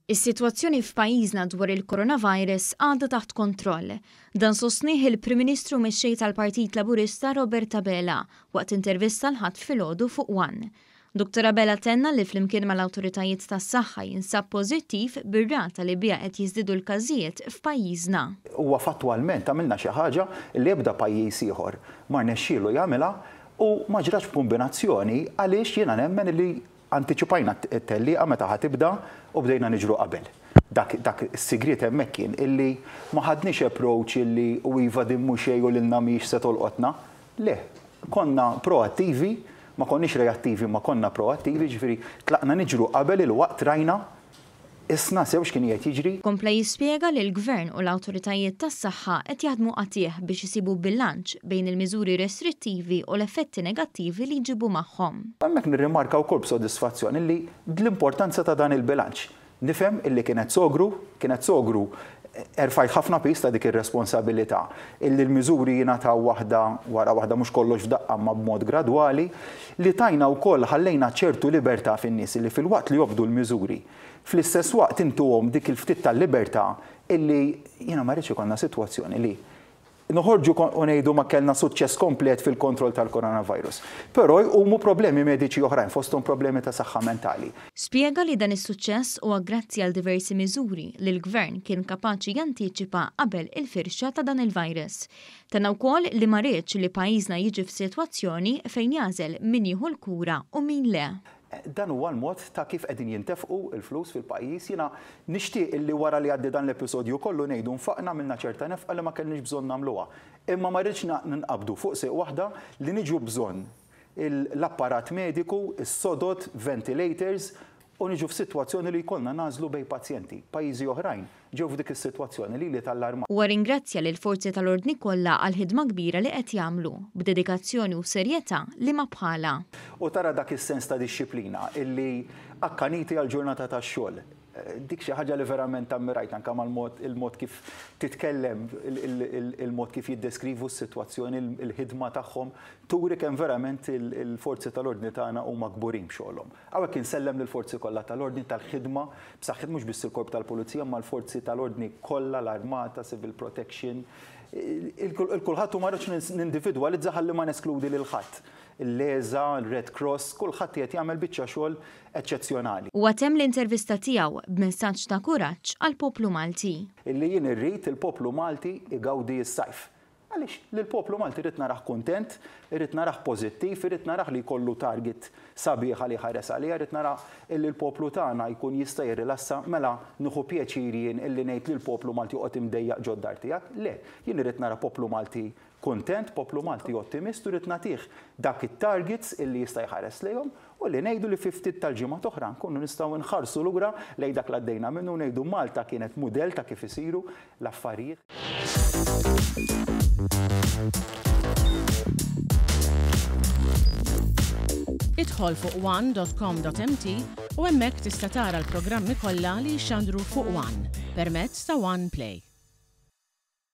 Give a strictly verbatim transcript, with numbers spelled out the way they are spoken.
Is-sitwazzjoni f'pajjiżna dwar il-coronavirus għadha taħt kontroll. Dan sostnieh il-Prim Ministru mexxej tal-Partit Laburista Robert Abela waqt intervista l-Ħadd filgħodu fuq One. Dottor Abela tenna li flimkien mal-awtoritajiet tas-saħħa jinsab pożittiv bir-rata li biha qed jiżdiedu l-każijiet f'pajjiżna. Huwa fattwalment għamilna xi ħaġa li ebda pajjiż ieħor ma rnexxielu jagħmilha u ma ġratx b'kombinazzjoni, għaliex jiena nemmen li antiċipajna t-tellieqa meta ħa tibda u bdejna niġru qabel. Dak, dak is-sigriet hemmhekk kien illi ma ħadniex approach illi u iva din mhux xejn u lilna mhix se tolqotna. Le, konna proattivi, ma konniex reattivi, ma konna proattivi, ġifieri tlaqna niġru qabel il-waqt, rajna isna sew x'kien qed jiġri. Kompla jispjega li l-Gvern u l-awtoritajiet tas-saħħa qed jaħdmu qatigħ biex isibu bilanċ bejn il-miżuri restrittivi u l-effetti negattivi li jġibu magħhom. Hemmhekk nirrimarka wkoll b'sodisfazzjon illi l-importanza ta' dan il-bilanċ. Nifhem illi kienet sogru, kienet sogru erfajt ħafna piż ta' dik ir-responsabilità illi l-miżuri jingħataw waħda wara waħda, mhux kollox f'daqqa ma b'mod gradwali, li tajna wkoll ħallejna ċertu libertà fin-nies illi filwaqt li jobdu l-miżuri, fl-istess waqt intuhom dik il-ftit tal-libertà illi jiena ma rridx ikollna sitwazzjoni li noħorġu u ngħidu ma kellna suċċess komplet fil-kontroll tal-coronavirus. Però jqumu problemi mediċi oħrajn, fosthom problemi ta' saħħa mentali. Spjega li dan is-suċċess huwa grazzi għal diversi miżuri li l-Gvern kien kapaċi jantiċipa qabel il-firxa ta' dan il-virus. Tenna wkoll li ma riedx li pajjiżna jiġi f'sitwazzjoni fejn jagħżel min jieħu l-kura u min le. Dan huwa l-mod ta' kif qegħdin jintefqu l-flus fil-pajjiż. Jiena nixtieq illi wara li għaddi dan l-episodju kollu ngħidu nfaqna minna ċerta nefqa li ma kellniex bżonn nagħmluha. Imma ma rridx ninqabdu fuq sieq waħda li niġu bżonn l-apparat mediku, is-sodod, ventilators, u niġu f'sitwazzjoni li jkollna nagħżlu bejn pazjenti. Pajjiżi oħrajn ġew f'dik is-sitwazzjoni li li tal-arma. Huwa ringrazzja lil forzi tal-ordni kollha għal ħidma kbira li qed jagħmlu b'dedikazzjoni u serjetà li ma bħala. U tara dak is-sens ta' dixxiplina illi akkaniti għal ġurnata tax-xogħol. Dik xi ħaġa li verament ammirajt anke mal-mod il-mod kif titkellem, il-mod kif jiddeskrivu s-sitwazzjoni, il-ħidma tagħhom, turi kemm verament il-forzi tal-ordni tagħna huma kburin b'xogħolhom. Hawnhekk insellem lill-forzi kollha tal-ordni tal-ħidma, b'saħħit mhux biss il-korp tal-pulizija, ma l-forzi tal-ordni kollha, l-armata, civil protection, il-kulħadd u ma rridx nindividwalizza ħalli ma neskludi lil ħadd. Il-Leza, il-Red Cross, kulħadd qed jagħmel biċċa xogħol eċċezzjonali. Huwa temm l-intervista tiegħu b'messaġġ ta' kuraġġ għall-poplu Malti. Illi jien irrid il-poplu Malti igawdi s-sajf. Għaliex lill-poplu Malti rrid narah kuntent, irrid narah pożittiv, irrid narah li jkollu target sabiħa li ħares għaliha, irrid narah illi l-poplu tagħna jkun jista' jirrilassa, mela nieħu pjaċir jien illi ngħid li l-poplu Malti joqgħod imdejjaq ġod-dar tiegħek. Le, jien irrid nara poplu Malti kuntent, poplu Malti ottimist, u rrid nagħtih dak it-targets illi jista' jħares lejhom u li ngħidu li fi ftit tal-ġimgħa oħra nkunu nistgħu nħarsu lura lejn dak li għaddejna minnu u ngħidu Malta kienet mudell ta' kif isiru l-affarijiet. Idħol fuq one dot com dot m t u hemmhekk tista' tara l-programmi kollha li jixxandru fuq One permezz ta' One Play.